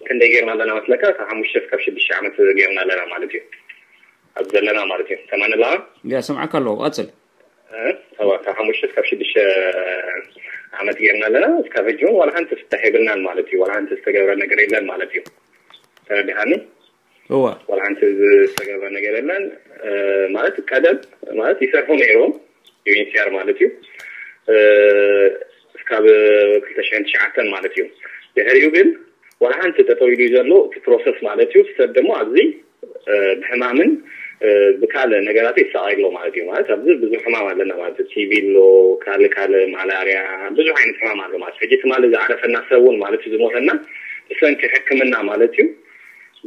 ክንደይ ጌርና ኣለና መስለካ? ካብ ሓሙሽተ እስካብ ሽዱሽተ ዓመት ጌርና ኣለና ማለት እዩ። ኣብ ዘለና ማለት እዩ። ሰማን ኣለኻ? ያ፣ ሰምዓካ ኣለኹ። ቀጽል። እ? ተባ-፣ ካብ ሓሙሽተ እስካብ ሽዱሽተ ዓመት ጌርና ኣለና። እስካብ ሕጂ እውን ዋላ ሓንቲ ፍታሕ የብልናን ማለት እዩ። ዋላ ሓንቲ ዝተገብረ ነገር የለን ማለት እዩ። ተረዲኻኒ? እዋ። ዋላ ሓንቲ ዝተገብረ ነገር የለን። እ፣ ማለት ቀደም ማለት ይሰርሑ ነይሮም፣ ዩ ኤን ኤች ሲ ኣር ማለት እዩ። እ፣ እስካብ ክልተ ሽሕን ትሽዓተን ማለት እዩ። ድሕሪኡ ግን ዋላ ሓንቲ ጠጠው ኢሉ እዩ ዘሎ እቲ ፕሮሰስ ማለት እዩ። ሰብ ደግሞ ኣብዚ፣ እ፣ ብሕማምን፣ እ፣ ብካልእ ነገራት ይሰቃይ ኣሎ ማለት እዩ። ማለት ኣብዚ ብዙሕ ሕማም ኣለና ማለት እዩ። ቲ ቢ ኣሎ፣ ካልእ ካልእ ማላርያ፣ ብዙሕ ዓይነት ሕማም ኣሎ ማለት እዩ። ሕጂ ትማሊ ዝዓረፈና ሰብ እውን ማለት እዩ ዝሞተና ብሰንኪ ሕክምና ማለት እዩ።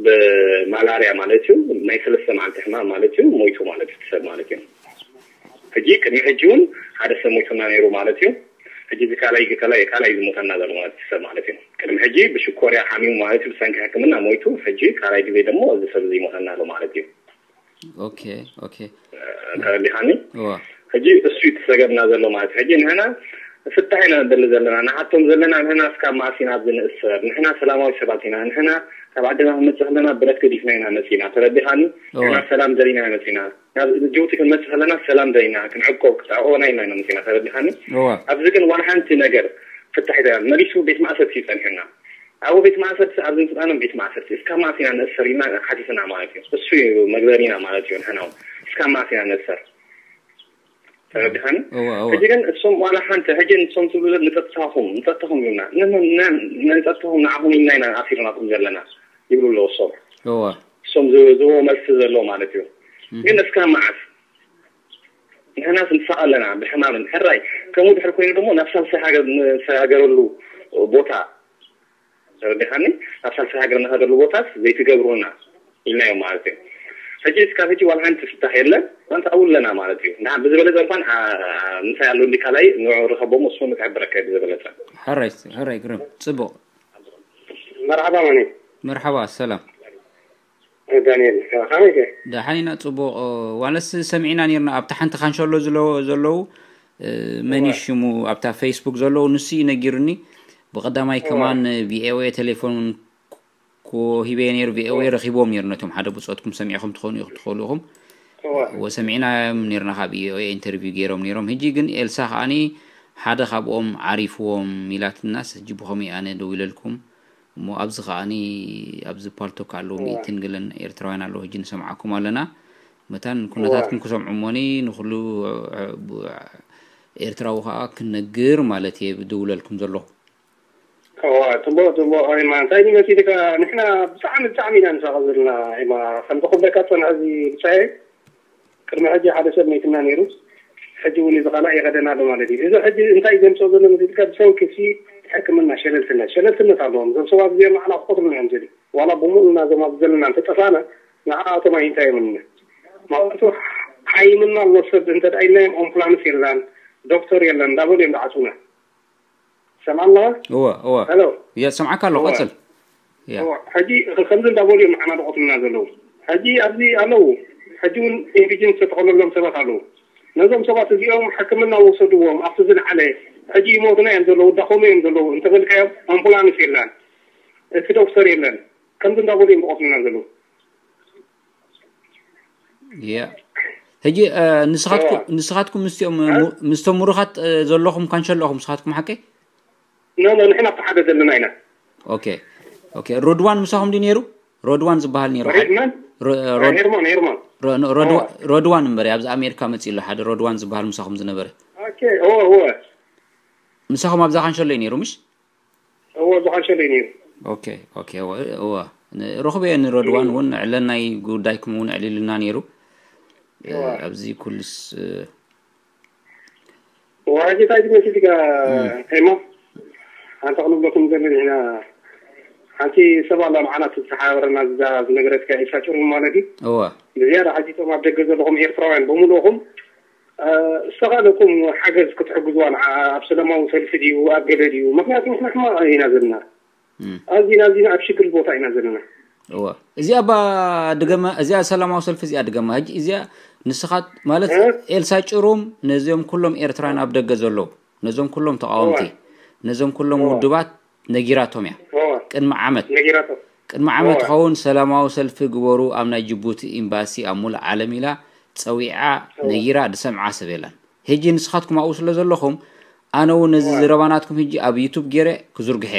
ብማላርያ ማለት እዩ። ናይ ሰለስተ መዓልቲ ሕማም ማለት እዩ። ሞይቱ ማለት እዩ እቲ ሰብ ማለት እዩ። ሕጂ ቅድሚ ሕጂ እውን ሓደ ሰብ ሞይቱና ነይሩ ማለት እዩ። ሕጂ እዚ ካልኣይ፣ ካልኣይ፣ ካልኣይ ዝሞተና ዘሎ ማለት እዩ ሰብ ማለት እዩ። ቅድሚ ሕጂ ብሽኮርያ ሓሚሙ ማለት እዩ፣ ብሰንኪ ሕክምና ሞይቱ። ሕጂ ካልኣይ ግዜ ደግሞ እዚ ሰብ እዚ ይሞተና ኣሎ ማለት እዩ። ኦኬ፣ ኦኬ። ተረዲኻኒ? እዋ። ሕጂ እሱ እዩ ተሰገብና ዘሎ ማለት እዩ። ሕጂ ንሕና ፍታሕ ኢና ንደሊ ዘለና። ንሓቶም ዘለና ንሕና እስካብ መዓስ ኢና ኣብዚ ንእሰር? ንሕና ሰላማዊ ሰባት ኢና። ንሕና ካብ ዓድና ክንመጽእ ከለና ብረት ገዲፍና ኢና መጺና። ተረዲኻኒ? እዋ። ንሕና ሰላም ደሊና መጺና። ናብ ጅቡቲ ክንመጽእ ከለና ሰላም ደሊና፣ ክንዕቆብ፣ ክትዕቆበና ኢልና ኢና መጺና። ተረዲኻኒ? እዋ። ኣብዚ ግን ዋላ ሓንቲ ነገር ፍታሕ ይተና። መሊሱ ቤት ማእሰርቲ እዩ ጸኒሑና። ኣብ ቤት ማእሰርቲ፣ ኣብዚ ምጽናኖም ቤት ማእሰርቲ፣ እስካብ መዓስ ኢና ንእሰር ኢልና ሓቲትና ማለት እዩ። እሱ እዩ መግበሪና ማለት እዩ። ንሕና እውን እስካብ መዓስ ኢና ንእሰር? ተረዲኻኒ? እዋ፣ እዋ። ሕጂ ግን እሶም ዋላ ሓንቲ፣ ሕጂ ንሶም ትብሉ ዘለ-፣ ንጸጥታኹም፣ ንጸጥታኹም ይብሉና። ን-፣ ን-፣ ን-፣ ንጸጥታኹም ንዓኹም ኢልና ኢና ኣሲርናኹም ዘለና ይብሉ ኣለዉ እሶም። እዋ። እሶም ዝ-፣ ዝህቦ መልሲ ዘሎ ማለት እዩ። እም። ግን እስካብ መዓስ? ንሕናስ ንሳቐ ኣለና ብሕማምን። ሕራይ፣ ከምኡ ድሕሪ ኮይኑ ደሞ ናብ ሳልሳይ ሃገር ንሰጋገረሉ ቦታ፣ ተረዲኻኒ? ናብ ሳልሳይ ሃገር ንኸደሉ ቦታስ ዘይትገብሩና ኢልናዮም ማለት እዩ። ሕጂ እስካብ ሕጂ ዋላ ሓንቲ ፍታሕ የለን። ኣንታ ኣብኡ ኣለና ማለት እዩ። ንዓ ብዝበለጸ እንኳን፣ ኣ-፣ ኣ-፣ ምሳይ ኣሎ እንዲ ካልኣይ ንዑ ርኸቦም፣ እሱ ንክሕብረካ እዩ ብዝበለጸ። ሕራይ፣ ሕራይ ግርም። ጽቡቕ። መርሓባ መኒ? መርሓባ፣ ሰላም። ዳንኤል፣ ከመይ ከ? ደሓን ኢና፣ ጽቡቕ። ዋለስ ሰሚዕና ኔርና፣ ኣብታ ሓንቲ ካንሸሎ ዝለ-፣ ዘለዉ፣ እ፣ መን እዩ ሽሙ? ኣብታ ፌስቡክ ዘለዉ፣ ንሱ እዩ ነጊሩኒ። ብቐዳማይ ከማን ቪ ኦ ኤ ቴሌፎን ኮ-፣ ሂበዮ ኔሩ፣ ቪ ኦ ኤ ረኺቦም ኔሩ፣ ነቶም ሓደ ብጾትኩም ሰሚዕኹም ትኾኑ ኢኹም፣ ትኽእሉ ኢኹም። እወ። ወሰሚዕናዮም ኔርና፣ ካብ ቪ ኦ ኤ ኢንተርቪው ገይሮም ኔሮም። ሕጂ ግን ኤልሳ ከኣኒ ሓደ ካብኦም ዓሪፍዎም ኢላትናስ፣ ሕጂ ብኸመይ ኣነ ደዊለልኩም? እሞ ኣብዚ ከኣኒ፣ ኣብዚ ፓልቶክ ኣለዉ፣ እወ። ሚእትን ገለን ኤርትራውያን ኣለዉ፣ ሕጂ ንሰምዓኩም ኣለና። መታን ኩነታትኩም እወ። ክሰምዑ እሞኒ፣ ንኹሉ፣ እ፣ ብ-፣ ኤርትራዊ ከኣ ክነግር ማለት እየ፣ ብድውለልኩም ዘለኹ። እወ፣ ጽቡቕ፣ ጽቡቕ። ኣይ፣ ማ፣ እንታይ ድዩ መሲልካ? ንሕና ብጣዕሚ፣ ብጣዕሚ ኢና ንሳቐ ዘለና። ኣይ፣ ማ፣ ከምዚ ክብለካ ዝጸንሐ እዚ ብጻየ፣ ቅድሚ ሕጂ ሓደ ሰብ መይትና ነይሩ፣ ሕጂ እውን እዚ ካልኣይ ይኸደና ኣሎ ማለት እዩ። እዚ ሕጂ እንታይ ዘምጽኦ ዘሎ መሲልካ? ብሰንኪ እቲ ሕክምና ሸለልትነት፣ ሸለልትነት ኣለዎም። እዞም ሰባት እዚኦም ንዓና ክቆትሉና እዮም ዝደልዩ። ዋላ ብምሉእና እዞም ኣብዚ ዘለና እንተጠፋእና፣ ንዓኣቶም ኣይንታዮምና። ማለቱ ሓይምና ኣሎ ሰብ እንተ ደኣ ኢልናዮም፣ ኣምቡላንስ የላን፣ ዶክተር የለን እንዳበሉ እዮም ዝዓጽዉና። ሰምዓና? እወ፣ እወ። ሄሎ። እየ፣ ሰምዓካ ኣለኹ፣ እወ። ቀጽል። እየ። እወ፣ ሕጂ ከ-፣ ከምዚ እንዳበሉ እዮም ንዓና ዝቐትሉና ዘለዉ። ሕጂ ኣብዚ ኣለዉ። ሕጂ እውን ኢንዲጅን ዝተተኸለሎም ሰባት ኣለዉ። ነዞም ሰባት እዚኦም ሕክምና ወሰድዎም፣ ኣብቲ ዝለዓለ። ሕጂ ይሞቱና እዮም ዘለዉ፣ ይዳኸሙ እዮም ዘለዉ። እንተበልካዮም፣ ኣምቡላንስ የላን፣ እቲ ዶክተር የለን። ከምዚ እንዳበሉ እዮም ዝቐትሉና ዘለዉ። እየ። ሕጂ፣ እ፣ ንስኻትኩ-፣ እወ። ንስኻትኩም ምስቲኦም፣ እ? ሙ-፣ ምስቶም ምሩኻት፣ እ፣ ዘለኹም ካንሸሎ ኢኹም ንስኻትኩም፣ ሓቀይ? ኖ፣ ኖ፣ ንሕና ኣብቲ ሓደ ዘለና ኢና። ኦኬ። ኦኬ። ሮድዋን ምሳኹም ድዩ ነይሩ? ሮድዋን ዝበሃል ነይሩ። ሬድ መን? ሮ-፣ ሮድ-፣ ሄርሞን፣ ሄርሞን። ሮ-፣ ኖ፣ ሮድዋ-፣ እወ። ሮድዋን እምበር፣ ኣብዚ ኣሜሪካ መጺኡ ኣሎ ሓደ ሮድዋን ዝበሃል ምሳኹም ዝነበረ። ኦኬ፣ እወ፣ እወ። ምሳኹም ኣብዛ ካንሸሎ እዩ ነይሩ፣ ምሽ? እወ፣ ኣብዚ ካንሸሎ እዩ ነይሩ። ኦኬ፣ ኦኬ፣ እወ፣ እወ። ን-፣ ረኽበዮ ንረድዋን እም። እውን ዕለናይ ጉዳይኩም እውን ዕሊልና ነይሩ። እ፣ እወ። ኣብዚ ኩልስ፣ እ፣ እወ፣ ሕጂ እንታይ ድመሲልካ፣ እም። ኤማ? ሓንቲ ክንብለኩም ዘለና ኢና። ሓንቲ ሰብ ኣላ ንዓና ትተሓባበረና፣ እዛ ዝነገረትካ ኤልሳ ጭሩም ማለት እዩ። እወ። ብዝያዳ ሕጂ እቶም ኣብ ደገ ዘለኹም ኤርትራውያን ብምልእኹም፣ እ፣ ዝተኻእለኩም ሓገዝ ክትሕግዝዋ ንዓ ኣብ ሰላማዊ ሰልፊ ድዩ፣ ኣብ ገለ ድዩ? ምኽንያቱ ንሕና ሕማቕ ኢና ዘለና። እም። ኣዚና፣ ኣዚና ኣብ ሽግር ቦታ ኢና ዘለና። እወ። እዚኣ ባ ድገማ፣ እዚኣ ሰላማዊ ሰልፊ እዚኣ ድገማ። ሕጂ እዚኣ ንስኻት ማለት እ? ኤልሳ ጭሩም ነዚኦም ኩሎም ኤርትራውያን ኣብ ደገ ዘለዉ፣ ነዞም ኩሎም ተቓወምቲ፣ እወ። ነዞም ኩሎም እወ። ውድባት ነጊራቶም እያ። እወ። ቅድሚ ዓመት። ነጊራቶም። ቅድሚ ዓመት እወ። ኸውን ሰላማዊ ሰልፊ ግበሩ ኣብ ናይ ጅቡቲ ኤምባሲ ኣብ ሙሉእ ዓለም ኢላ ጸዊዓ እወ። ነጊራ ዝሰምዓ ሰብ የላን። ሕጂ ንስኻትኩም ኣብኡ ስለ ዘለኹም ኣነ እውን ነዚ እወ። ዘረባ ናትኩም ሕጂ ኣብ ዩቱብ ገይረ ክዝርግሐ።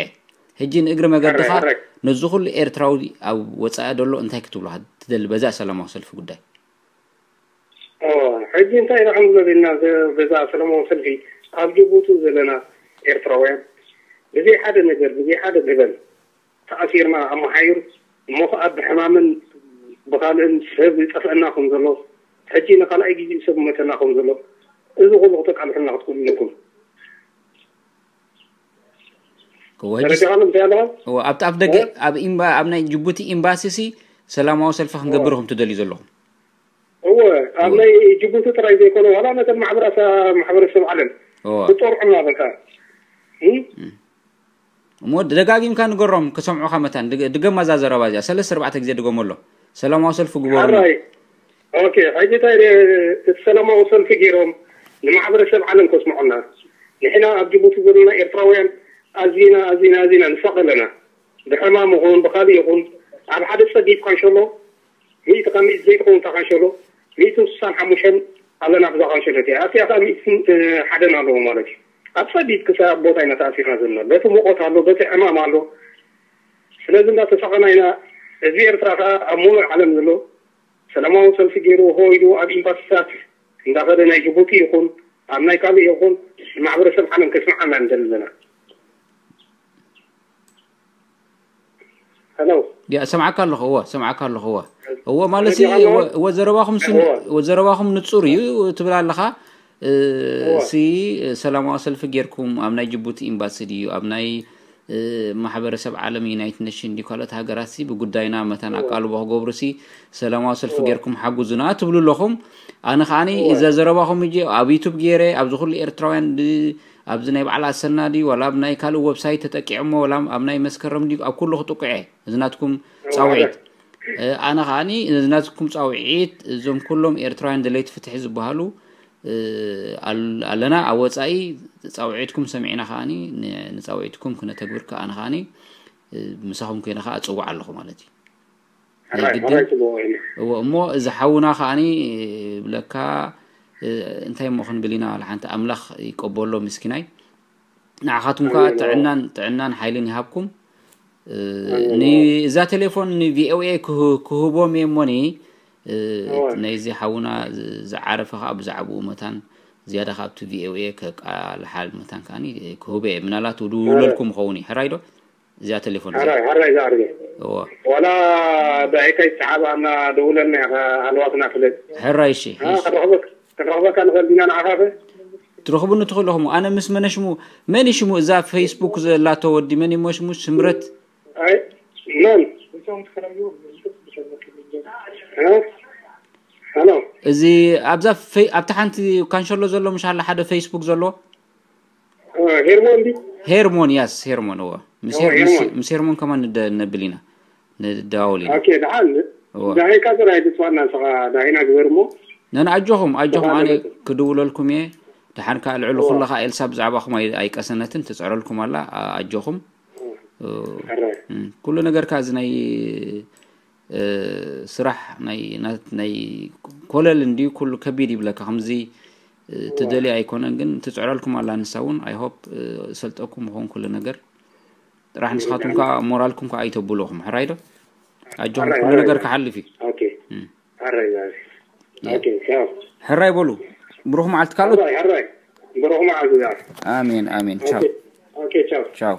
ሕጂ ንእግሪ መገድኻ ሕራይ፣ ሕራይ። ነዚ ኩሉ ኤርትራዊ ኣብ ወጻኢ ዘሎ እንታይ ክትብሎ ትደሊ በዛ ሰላማዊ ሰልፊ ጉዳይ? እወ፣ ሕጂ እንታይ ኢና ክንብሎ ዘለና? ዘ-፣ በዛ ሰላማዊ ሰልፊ ኣብ ጅቡቲ ዘለና ኤርትራውያን ብዘይ ሓደ ነገር፣ ብዘይ ሓደ ገበን ተኣሲርና ኣብ መሓዩር፣ እሞ ኸዓ ብሕማምን ብኻልእን ሰብ ይጠፍአና ከም ዘሎ፣ ሕጂ ንኻልኣይ ግዜ ሰብ ይሞተና ከም ዘሎ፣ እዚ ኩሉ ክተቃልሑልና ክትክእሉ ኣለኩም። እወ፣ ሕጂ ተረዲኻኒ እንታይ ኣለኻ? እወ፣ ኣብቲ ኣፍ ደገ፣ እወ። ኣብ ኤምባ-፣ ኣብ ናይ ጅቡቲ ኤምባሲ ሲ ሰላማዊ ሰልፊ ክንገብር እወ። ኢኹም ትደልዩ ዘለኹም? እወ፣ ኣብ እወ። ናይ ጅቡቲ ጥራይ ዘይኮነ፣ ዋላ ነተን ማሕበራሳ-፣ ማሕበረሰብ ዓለም እወ። ክጦርዑና በቃ። እም? እም። እሞ ደጋጊምካ ንገሮም ክሰምዑኻ መታን፣ ድገ-፣ ድገማ እዛ ዘረባ እዚኣ፣ ሰለስተ ኣርባዕተ ግዜ ድገመሎም። ሰላማዊ ሰልፊ ግበሩ። ሕራይ። ኦኬ፣ ሕጂ እንታይ ደ-፣ እቲ ሰላማዊ ሰልፊ ገይሮም ንማሕበረሰብ ዓለም ከስምዑና። ንሕና ኣብ ጅቡቲ ዘለና ኤርትራውያን ኣዚና፣ ኣዚና፣ ኣዚና ንሳቐ ኣለና። ብሕማም ይኹን ብኻልእ ይኹን ኣብ ሓደ ጸቢብ ካንሸሎ ሚእቲ ካብ ሚእቲ ዘይትኸውን እታ ካንሸሎ፣ ሚእትን ስሳን ሓሙሽተን ኣለና ኣብዛ ካንሸሎ እቲኣ። ኣብቲኣ ከኣ ሚእትን፣ እ፣ ሓደን ኣለዎ ማለት እዩ። ኣብ ጸቢብ ክሳብ ቦታ ኢና ተኣሲርና ዘለና። በቲ ሙቐት ኣሎ፣ በቲ ዕማም ኣሎ። ስለዚ እንዳተሳቐና ኢና። ህዝቢ ኤርትራ ከኣ ኣብ ሙሉእ ዓለም ዘሎ ሰላማዊ ሰልፊ ገይሩ፣ ሆ ኢሉ ኣብ ኤምባሲታት እንዳኸደ ናይ ጅቡቲ ይኹን ኣብ ናይ ካልእ ይኹን ማሕበረሰብ ዓለም ከስምዓና ንደሊ ዘለና። ሄሎ። ያ፣ ሰምዓካ ኣለኹ፣ እወ፣ ሰምዓካ ኣለኹ፣ እወ። እወ፣ ማለት ሲ፣ ረዲኻ ኣለኻ? እወ፣ እወ፣ ዘረባኹም ስን-፣ እወ። እወ፣ ዘረባኹም ንጹር እዩ ትብል ኣለኻ። እ፣ እወ። ሲ፣ ሰላማዊ ሰልፊ ጌርኩም ኣብ ናይ ጅቡቲ ኤምባሲ ድዩ፣ ኣብ ናይ፣ እ፣ ማሕበረሰብ ዓለም ዩናይትድ ኔሽን ድዩ፣ ካልኦት ሃገራት ሲ ብጉዳይና መታን እወ። ኣቃልቦ ክገብሩ ሲ ሰላማዊ ሰልፊ እወ። ጌርኩም ሓግዙና ትብሉ ኣለኹም። ኣነ ከዓኒ እወ። እዛ ዘረባኹም እጂ ኣብ ዩቱብ ጌረ፣ ኣብዚ ኩሉ ኤርትራውያን ድ-፣ ኣብዚ ናይ በዓል ኣሰና ድዩ፣ ዋላ ኣብ ናይ ካልእ ወብሳይት ተጠቂዖሞ፣ ዋላ ኣብ ናይ መስከረም ድዩ፣ ኣብ ኩሉ ክጥቅዖ እየ። እዚ ናትኩም እወ፣ ጻውዒት። ሓደ። እ፣ ኣነ ከዓኒ እዚ ናትኩም ጻውዒት፣ እዞም ኩሎም ኤርትራውያን ደለይቲ ፍትሒ ዝበሃሉ፣ እ፣ ኣል-፣ ኣለና ኣብ ወጻኢ ጻውዒትኩም ሰሚዕና ከዓኒ ን-፣ ንጻውዒትኩም ክነተግብር ከዓኒ ከዓኒ፣ እ፣ ምሳኹም ኮይነ ከኣ እጽውዕ ኣለኹ ማለት እዩ። ናይ ሕራይ፣ ግድን። ሕራይ ጽቡቕ እዩ። እወ፣ እሞ እዚ ሓውና ከዓኒ፣ እ፣ ብለካ፣ እ፣ እንታይ እሞ ክንብል ኢና፣ ዋላ ሓንቲ ኣምላኽ ይቀበሎ ምስኪናይ። ንዓኻትኩም ከኣ ኣሜን፣ ኣዎ። ጥዕናን፣ ጥዕናን ሓይልን ይሃብኩም። እ፣ ኣሜን፣ ን-፣ ኣዎ። እዛ ቴሌፎን ን-፣ ቪ ኦ ኤ ክህ-፣ ክህቦም እየ እሞኒ፣ እ፣ ኣዎ። ናይዚ ሓውና ዝ-፣ ዝዓረፈ ከኣ ብዛዕባኡ መታን ዝያዳ ካብቲ ቪ ኦ ኤ ከቃልሓል መታን ከኣኒ ክህቦ እየ። ምናልባት ክድውለልኩም ኣዎ። ይኸውን እዩ። ሕራይ ዶ? እዚኣ ቴሌፎን እዚኣ። ሕራይ፣ ሕራይ ዝዓርገ። እዎ። ዋላ ብኣይካ ይተሓባእና ደውለልና ኢኻ፣ ሃለዋትና ፍለጥ። ሕራይ፣ እሺ፣ አ፣ እሺ። ክንረኽበክ-፣ ክንረኽበካ ንኽእል ዲና ንዓኻ ኸ? ትረኽቡኒ ትኽእሉ ኢኹም። ኣነ ምስ መነ ሽሙ፣ መን እዩ ሽሙ? እዛ ፌስቡክ ዘላቶ ወዲ መን እዩ ሽሙ? ስምረት? ኣይ፣ መን? እ? ሃሎ። እዚ ኣብዛ ፈይ-፣ ኣብታ ሓንቲ ካንሸሎ ዘሎ ምሽ ኣላ ሓደ ፌስቡክ ዘሎ? እ፣ ሄርሞን ድዩ? ሄርሞን፣ ያስ፣ ሄርሞን፣ እወ። ምስ እወ፣ ሄር-፣ ምስ፣ ሄርሞን። ምስ ሄርሞን ከማን ንደ-፣ ነብል ኢና። ንደዋወል ኢና። ኦኬ፣ ደሓን። እወ። ዳሂካ ጥራይ ትጽዋና ንስኻ፣ ዳሂና ግበር እሞ። ነን ኣጆኹም፣ ኣጆኹም፣ ደሓን ኣነ ይበል። ክድውለልኩም እየ። ደሓን ከኣ ልዕሊ እወ። ኩሉ ከኣ ኤልሳ ብዛዕባኹም ኣይ-፣ ኣይቀሰነትን፣ ትጽዕረልኩም ኣላ፣ ኣ-፣ ኣጆኹም። እወ። እ፣ ሕራይ። እም፣ ኩሉ ነገር ከኣ እዚ ናይ እ፣ ስራሕ ናይ፣ ናይ፣ ናይ ኮለል እንድዩ፣ ኩሉ ከቢድ ይብለካ። ከምዚ፣ እ፣ እዋ። ትደልዮ ኣይኮነን፣ ግን ትጽዕረልኩም ኣላ ንሳ እውን። I hope፣ እ፣ ሰልጠኩም ይኸውን ኩሉ ነገር። ጥራሕ ንስኻትኩም እም፣ ከዓ ሞራልኩም ከዓ ኣይተብልኹም። ሕራይ ዶ? ኣጆኹም፣ ሕራይ፣ ኩሉ ሕራይ፣ ነገር ሕራይ። ክሓልፍ እዩ። ኦኬ። እም። ሕራይ፣ ሕራይ። ያ። ኦኬ፣ ቻው። ሕራይ በሉ። ብሩኽ መዓልቲ ካልኦት። ሕራይ፣ ሕራይ። ብሩኽ መዓልቲ ዛር። ኣሜን፣ ኣሜን። ቻው። ኦኬ። ኦኬ፣ ቻው። ቻው።